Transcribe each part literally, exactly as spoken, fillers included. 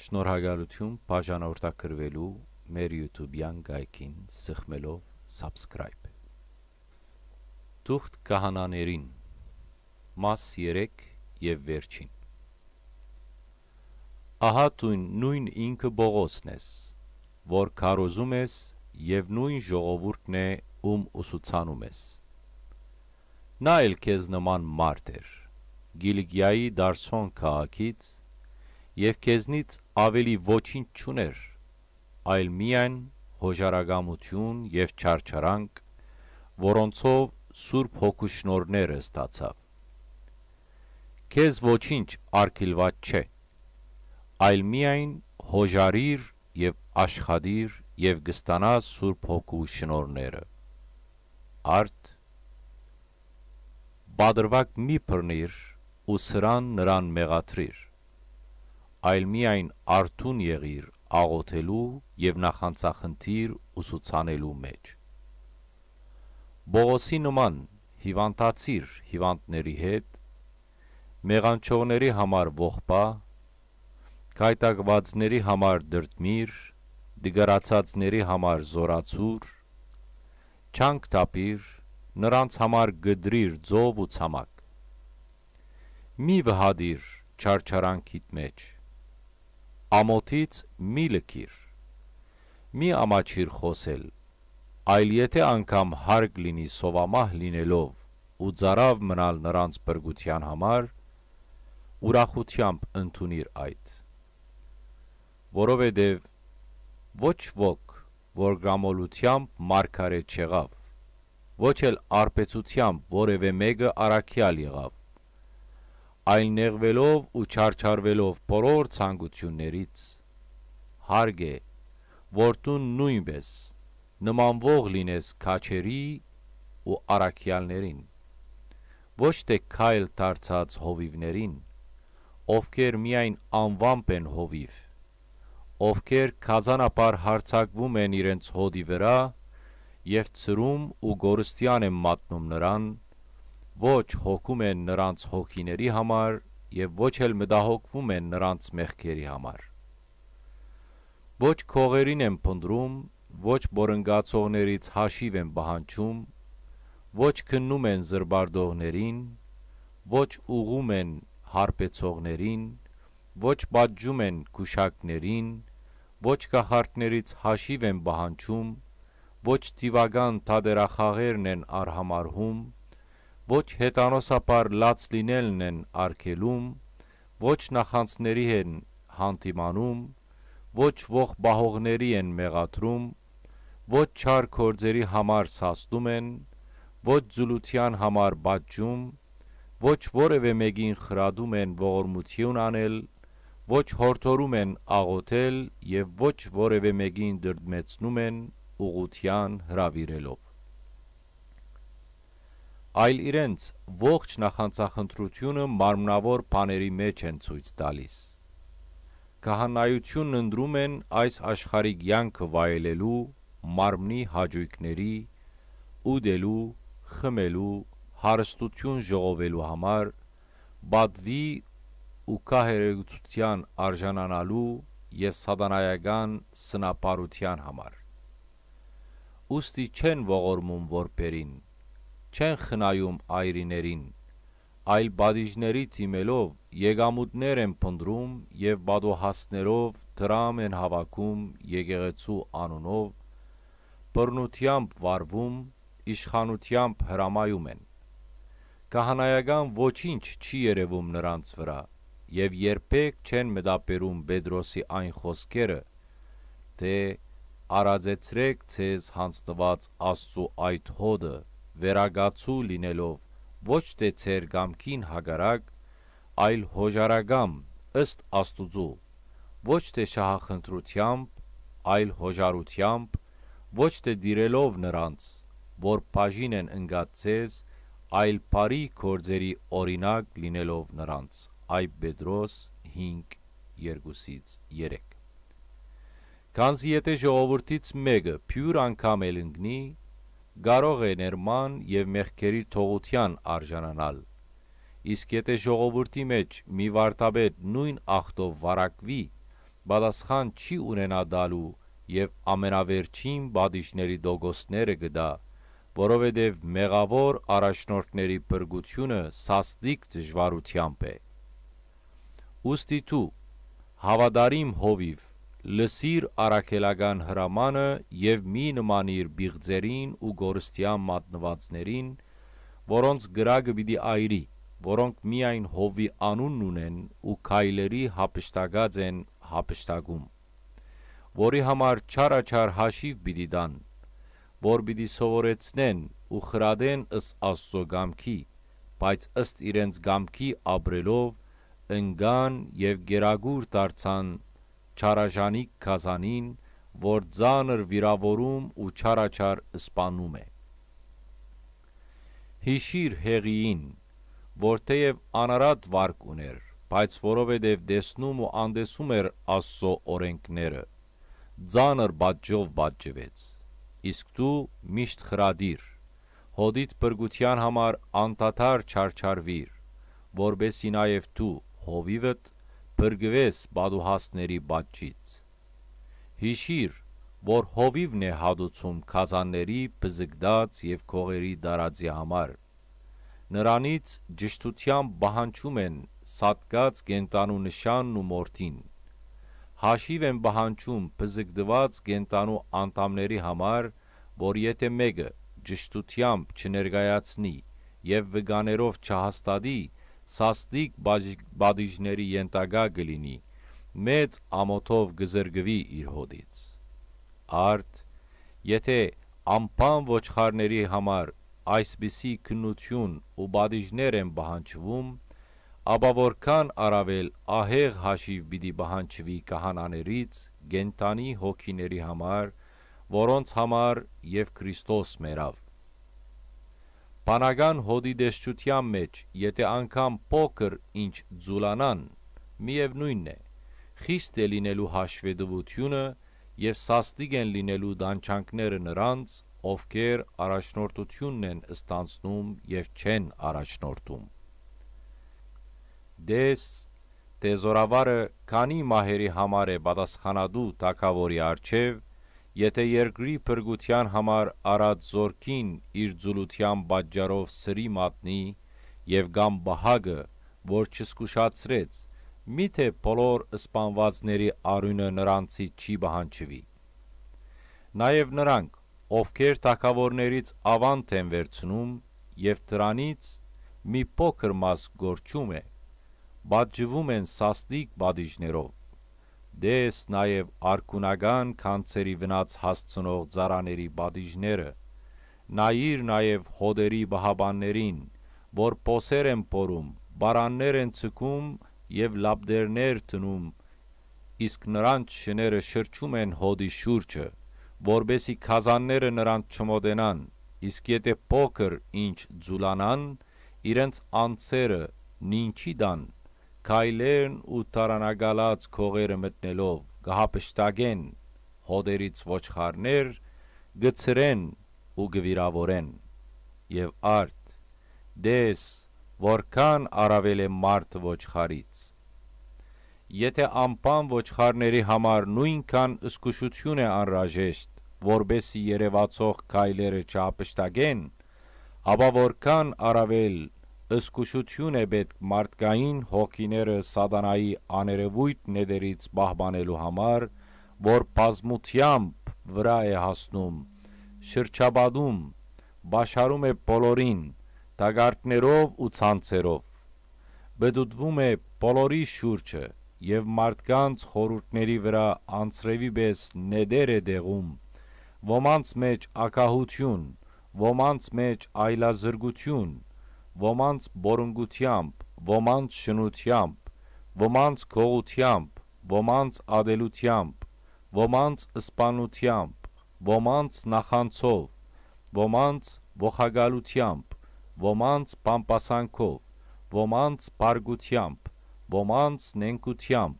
Շնորհակալութիւն բաժանորդագրուելու մեր YouTube-յան կայքին, սեղմելով subscribe։ Թուղթ քահանաներին, մաս երեք եւ վերջին։ Ահա դուն նոյն ինքը Պողոսն ես, որ քարոզում ես եւ նոյն ժողովուրդն է, ում ուսուցանում ես։ Նա էլ քեզ նման մարդ էր, Կիլիկիայի Տարսոն քաղաքից, եւ քեզնից աւելի ոչինչ չունէր, այլ միայն յօժարակամութիւն եւ չարչարանք, որոնցով Սուրբ Հոգու շնորհները ստացաւ։ Քեզ ոչինչ արգիլուած չէ, այլ միայն յօժարիր եւ աշխատիր, եւ կստանաս Սուրբ Հոգու շնորհները։ Արդ, պատրուակ մի բռնիր ու սրան նրան մեղադրիր, այլ միայն արթուն եղիր աղօթելու եւ նախանձախնդիր ուսուցանելու մէջ։ Պողոսի նման հիւանդացիր հիւանդների հետ, մեղանչողների համար ողբա, գայթակղուածների համար դրդմիր, տկարացածների համար զօրացուր, չանք թափիր, նրանց համար կտրիր ծով ու ցամաք։ Մի վհատիր չարչարանքիդ մէջ, ամօթից մի լքիր, մի ամաչիր խօսել, այլ եթէ անգամ հարկ լինի սովամահ լինելով ու ծարաւ մնալ նրանց փրկութեան համար, ուրախութեամբ ընդունիր այդ։ Որովհետեւ ոչ ոք, որ կամոլութեամբ մարգարէ չեղաւ, ոչ էլ արբեցութեամբ որեւէ մէկը առաքեալ եղաւ, այլ նեղուելով ու չարչարուելով բոլոր ցանկութիւններից, հարկ է, որ դուն նոյնպէս նմանուող լինես քաջերի ու առաքեալներին, ոչ թէ քայլ դարձած հովիւներին, ովքեր միայն անուամբ են հովիւ, ովքեր գազանաբար յարձակուում են իրենց հօդի վրայ եւ ցրում ու կորստեան են մատնում նրան, ոչ հոգում են նրանց հոգիների համար եւ ոչ էլ մտահոգվում են նրանց մեղքերի համար։ Ոչ քողերին են փնտռում, ոչ պորնկացողներից հաշիւ են պահանջում, ոչ քննում են զրպարտողներին, ոչ ուղղում են հարբեցողներին, ոչ պատժում են գուշակներին, ոչ կախարդներից հաշիւ են պահանջում, ոչ դիւական թատերախաղերն են արհամարհում, ոչ հեթանոսաբար լաց լինելն են արգելում, ոչ նախանձների են հանդիմանում, ոչ ողբահողների են մեղադրում, ոչ չար գործերի համար սաստում են, ոչ ձուլութեան համար պատժում, ոչ որեւէ մէկին խրատում են ողորմութիւն անել, ոչ յորդորում են աղօթել եւ ոչ որեւէ մէկին դրդմեցնում են ուղղութեան հրաւիրելով, այլ իրենց ողջ նախանձախնդրութիւնը մարմնաւոր բաների մէջ են ցոյց տալիս։ Քահանայութիւնն ընտրում են այս աշխարհի կեանքը վայելելու, մարմնի հաճոյքների, ուտելու, խմելու, հարստութիւն ժողովելու համար, պատուի ու քահերեգութեան արժանանալու եւ սատանայական սնապարութեան համար։ Ուստի չեն ողորմում որբերին, չեն խնայում այրիներին, այլ պատիժների դիմելով եկամուտներ են փնտռում եւ պատոհասներով դրամ են հաւաքում եկեղեցու անունով, բռնութեամբ վարվում, իշխանութեամբ հրամայում են։ Քահանայական ոչինչ չի երեւում նրանց վրայ եւ երբեք չեն մտաբերում Պետրոսի այն խօսքերը, թէ «Արածեցրէք ձեզ յանձնուած Աստծու այդ հօտը, վերակացու լինելով ոչ թէ ձեր կամքին հակառակ, այլ յօժարակամ ըստ Աստուծոյ, ոչ թէ շահախնդրութեամբ, այլ յօժարութեամբ, ոչ թէ տիրելով նրանց, որ բաժին են ընկած ձեզ, այլ բարի գործերի օրինակ լինելով նրանց»։ Այ Պետրոս հինգ, երկուսից երեք։ Քանզի եթէ ժողովուրդից մէկը բիւր անգամ էլ ընկնի, կարող է ներման եւ մեղքերի թողութեան արժանանալ։ Իսկ եթէ ժողովուրդի մէջ մի վարդապետ նոյն ախտով վարակուի, պատասխան չի ունենայ տալու եւ ամենավերջին պատիժների տոկոսները կը տայ, որովհետեւ մեղաւոր առաջնորդների փրկութիւնը սաստիկ դժուարութեամբ է։ Ուստի դու, հաւատարիմ հովիւ, լսիր առաքելական հրամանը եւ մի նմանիր բիղձերին ու կորստեան մատնուածներին, որոնց կրակը պիտի այրի, որոնք միայն հովի անունն ունեն ու քայլերի յափշտակած են յափշտակում, որի համար չարաչար հաշիւ պիտի տան, որ պիտի սովորեցնեն ու խրատեն ըստ Աստուծոյ կամքի, բայց ըստ իրենց կամքի ապրելով ընկան եւ կերակուր դարձան չարաժանիկ գազանին, որ ծանր վիրաւորում ու չարաչար սպանում է։ Յիշիր Հեղիին, որ թէեւ անարատ վարք ունէր, բայց որովհետեւ տեսնում ու անտեսում էր Աստուծոյ օրէնքները, ծանր պատժով պատժուեց։ Իսկ դու միշտ խրատիր, հօդիդ փրկութեան համար անդադար չարչարուիր, որպէս զի նաեւ դու, հովիւդ, փրկուես պատուհասների պատժից։ Յիշիր, որ հովիւն է հատուցում գազանների բզկտած եւ քողերի տարածի համար։ Նրանից ճշդութեամբ պահանջում են սատկած կենդանու նշանն ու մորթին։ Հաշիւ են պահանջում բզկտուած կենդանու անդամների համար, որ եթէ մէկը ճշդութեամբ չներկայացնի եւ վկաներով չհաստատի, սաստիկ բաժ-, պատիժների ենթակայ կը լինի, մեծ ամօթով կը զրկուի իր հօդից։ Արդ, եթէ ամբան ոչխարների համար այսպիսի քննութիւն ու պատիժներ են պահանջվում, ապա որքան առաւել ահեղ հաշիւ պիտի պահանջուի քահանաներից կենդանի հոգիների համար, որոնց համար եւ Քրիստոս մեռաւ։ Բանական հօդի տեսչութեան մէջ, եթէ անգամ փոքր ինչ ձուլանան, միեւնոյնն է, խիստ է լինելու հաշուետուութիւնը եւ սաստիկ են լինելու տանջանքները նրանց, ովքեր առաջնորդութիւնն են ստանձնում եւ չեն առաջնորդում։ Տես, թէ զօրավարը քանի մահերի համար է պատասխանատու թագաւորի առջեւ, եթէ երկրի փրկութեան համար առած զօրքին իր ձուլութեան պատճառով սրի մատնի եւ կամ պահակը, որ չզգուշացրեց, միթէ բոլոր սպանուածների արիւնը նրանցից չի պահանջուի։ Նաեւ նրանք, ովքեր թագաւորներից աւանդ են վերցնում եւ դրանից մի փոքր մաս կորչում է, պատժվում են սաստիկ պատիժներով։ Տես նաեւ արքունական գանձերի վնաց հասցնող ծառաների պատիժները, նայիր նաեւ հօտերի պահապաններին, որ փոսեր են փորում, պարաններ են ձգում եւ լապտերներ դնում, իսկ նրանց շները շրջում են հօտի շուրջը, որպէս զի գազանները նրանց չմոտենան, իսկ եթէ փոքր ինչ ձուլանան, իրենց անձերը նինջի տան, քայլերն ու դարանակալած քողերը մտնելով կը յափշտակեն հօտերից ոչխարներ, կը ցրեն ու կը վիրաւորեն։ Եւ արդ, տես, որքան առաւել է մարդը ոչխարից։ Եթէ ամբան ոչխարների համար նոյնքան զգուշութիւն է անհրաժեշտ, որպէս զի երեւացող քայլերը չյափշտակեն, ապա որքան առաւել զգուշութիւն է պէտք մարդկային հոգիները սատանայի աներեւոյթ նետերից պահպանելու համար, որ բազմութեամբ վրայ է հասնում, շրջապատում, պաշարում է բոլորին, տակառներով ու ցանցերով։ Պտուտվում է բոլորի շուրջը եւ մարդկանց խորհուրդների վրայ անձրեւի պէս նետեր է դեղում, ոմանց մէջ ագահութիւն, ոմանց մէջ այլազրկութիւն, ոմանց պորունկութեամբ, ոմանց շնութեամբ, ոմանց գողութեամբ, ոմանց ատելութեամբ, ոմանց սպանութեամբ, ոմանց նախանձով, ոմանց ողակալութեամբ, ոմանց բամբասանքով, ոմանց բարկութեամբ, ոմանց նենգութեամբ,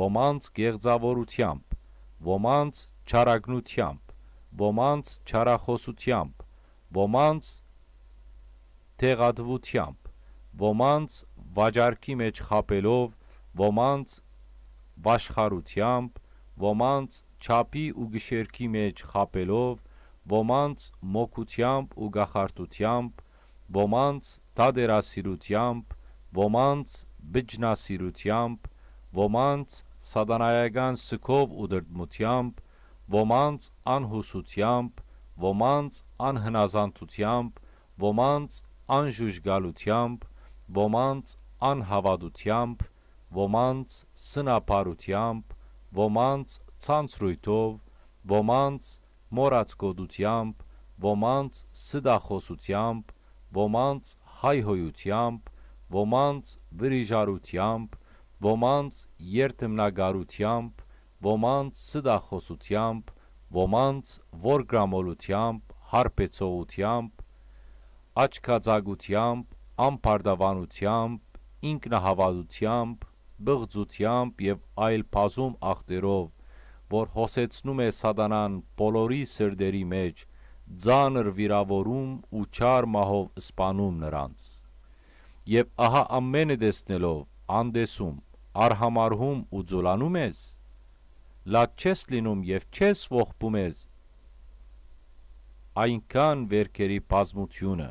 ոմանց կեղծաւորութեամբ, ոմանց չարագնութեամբ, ոմանց չարախօսութեամբ, ոմանց տեղատուութեամբ, ոմանց վաճառքի մէջ խաբելով, ոմանց վաշխառութեամբ, ոմանց չափի ու գիշերքի մէջ խաբելով, ոմանց մոգութեամբ ու կախարդութեամբ, ոմանց թատերասիրութեամբ, ոմանց բջնասիրութեամբ, ոմանց սատանայական սգով ու դրդմութեամբ, ոմանց անհուսութեամբ, ոմանց անհնազանդութեամբ, ոմանց անժուժկալութեամբ, ոմանց անհաւատութեամբ, ոմանց սնապարութեամբ, ոմանց ցանցրոյթով, ոմանց մոռացկոտութեամբ, ոմանց ստախօսութեամբ, ոմանց հայհոյութեամբ, ոմանց վրիժառութեամբ, ոմանց երդմնակարութեամբ, ոմանց ստախօսութեամբ, ոմանց որգրամոլութեամբ, հարբեցողութեամբ, աչքածակութեամբ, ամբարտավանութեամբ, ինքնահաւատութեամբ, պղծութեամբ եւ այլ բազում ախտերով, որ հոսեցնում է սատանան բոլորի սրտերի մէջ, ծանր վիրաւորում ու չար մահով սպանում նրանց։ Եւ ահա ամէնը տեսնելով, անտեսում, արհամարհում ու ձուլանում ես, լաց չես լինում եւ չես ողբում ես։ Այնքան վերքերի բազմութիւնը։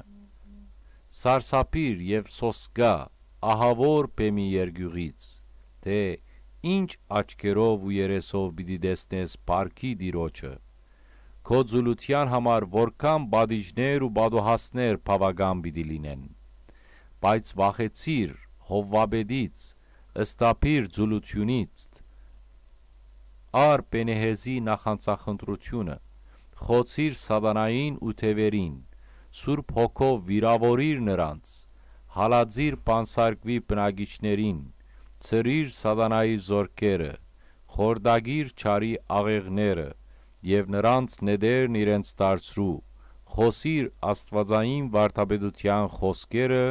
Սարսափիր եւ սոսկայ ահաւոր բեմի երկիւղից, թէ ինչ աչքերով ու երեսով պիտի տեսնես փառքի Տիրոջը։ Քո ձուլութեան համար որքան պատիժներ ու պատուհասներ բաւական պիտի լինեն։ Բայց վախեցիր Հովվապետից, սթափիր ձուլութիւնից, առ Պենեհեզի նախանձախնդրութիւնը, խոցիր սատանային ու թեւերին, Սուրբ Հոգով վիրաւորիր նրանց, հալածիր բանսարկուի բնակիչներին, ցրիր սատանայի զորքերը, խորտակիր չարի աղեղները եւ նրանց նետերն իրենց դարձրու, խօսիր աստուածային վարդապետութեան խօսքերը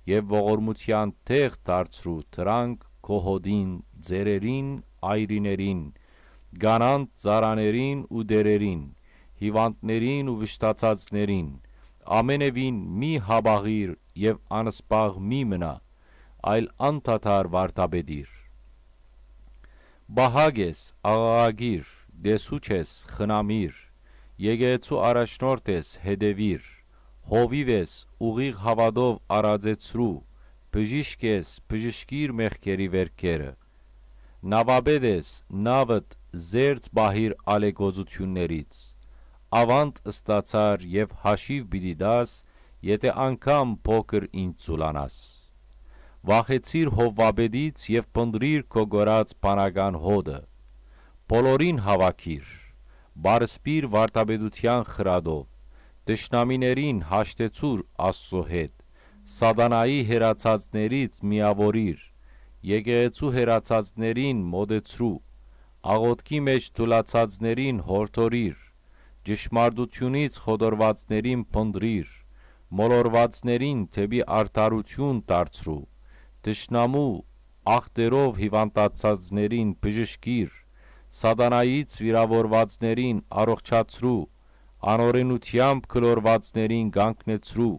եւ ողորմութեան տեղ դարձրու դրանք քո հօտին, ծերերին, այրիներին, կանանց ծառաներին ու տէրերին, հիւանդներին ու վշտացածներին, ամենեւին մի հապաղիր եւ անսպաղ մի մնա, այլ անդադար վարդապետիր։ Պահակ ես, աղաղակիր, տեսուչ ես, խնամիր, եկեղեցու առաջնորդ ես, հետեւիր, հովիւ ես, ուղիղ հաւատով արածեցրու, բժիշկ ես, բժշկիր մեղքերի վերքերը։ Նաւապետ ես, նաւդ զերծ պահիր ալեկոծութիւններից, աւանդ ստացար եւ հաշիւ պիտի տաս, եթէ անգամ փոքր ինչ ծուլանաս։ Վախեցիր Հովվապետից եւ փնտռիր քո կորած բանական հօտը։ Բոլորին հաւաքիր, պարսպիր վարդապետութեան խրատով, թշնամիներին հաշտեցուր Աստծո հետ, սատանայի հեռացածներից միաւորիր, եկեղեցու հեռացածներին մօտեցրու, աղօթքի մէջ թուլացածներին յորդորիր, ճշմարտութիւնից խոտորուածներին փնտռիր, մոլորուածներին դէպի արդարութիւն դարձրու, թշնամու ախտերով հիւանդացածներին բժշկիր, սատանայից վիրաւորուածներին առողջացրու, անօրէնութեամբ գլորուածներին կանգնեցրու,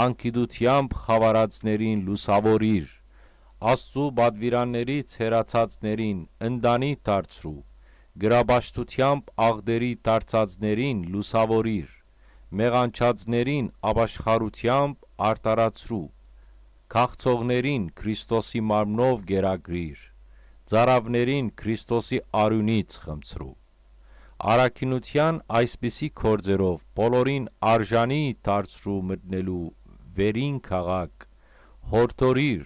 անգիտութեամբ խաւարածներին լուսաւորիր, Աստծու պատուիրաններից հեռացածներին ընտանի դարձրու, գրապաշտութեամբ աղտերի դարձածներին լուսաւորիր, մեղանչածներին ապաշխարութեամբ արդարացրու, քաղցողներին Քրիստոսի մարմնով կերակրիր, ծարաւներին Քրիստոսի արիւնից խմցրու։ Առաքինութեան այսպիսի գործերով բոլորին արժանի դարձրու մտնելու վերին քաղաք, յորդորիր,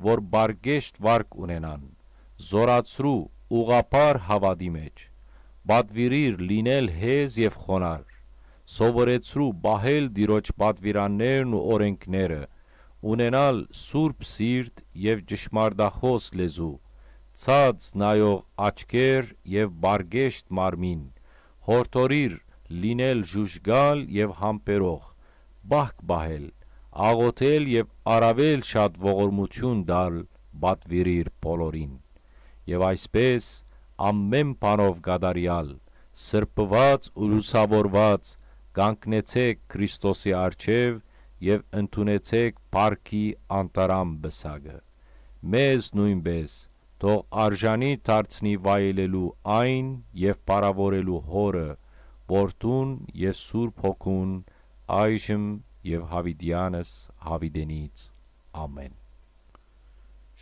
որ պարկեշտ վարք ունենան, զօրացրու ուղղափառ հաւատի մէջ, պատուիրիր լինել հեզ եւ խոնարհ, սովորեցրու պահել Տիրոջ պատուիրաններն ու օրէնքները, ունենալ սուրբ սիրտ եւ ճշմարտախօս լեզու, ցած նայող աչքեր եւ պարկեշտ մարմին, յորդորիր լինել ժուժկալ եւ համբերող, պահք պահել, աղօթել եւ առաւել շատ ողորմութիւն տալ պատուիրիր բոլորին։ Եւ այսպէս, ամէն բանով կատարեալ, սրբուած ու լուսաւորուած, կանգնեցէք Քրիստոսի առջեւ եւ ընդունեցէք փառքի անտարամ պսակը։ Մեզ նոյնպէս թող արժանի դարձնի վայելելու այն եւ պարաւորելու Հօրը, Որդուն եւ Սուրբ Հոգուն, այժմ եւ յաւիտեանս յաւիտենից։ Ամէն։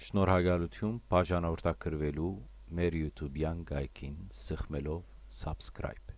Շնորհակալութիւն բաժանորդագրուելու մեր YouTube-յան կայքին, սեղմելով subscribe։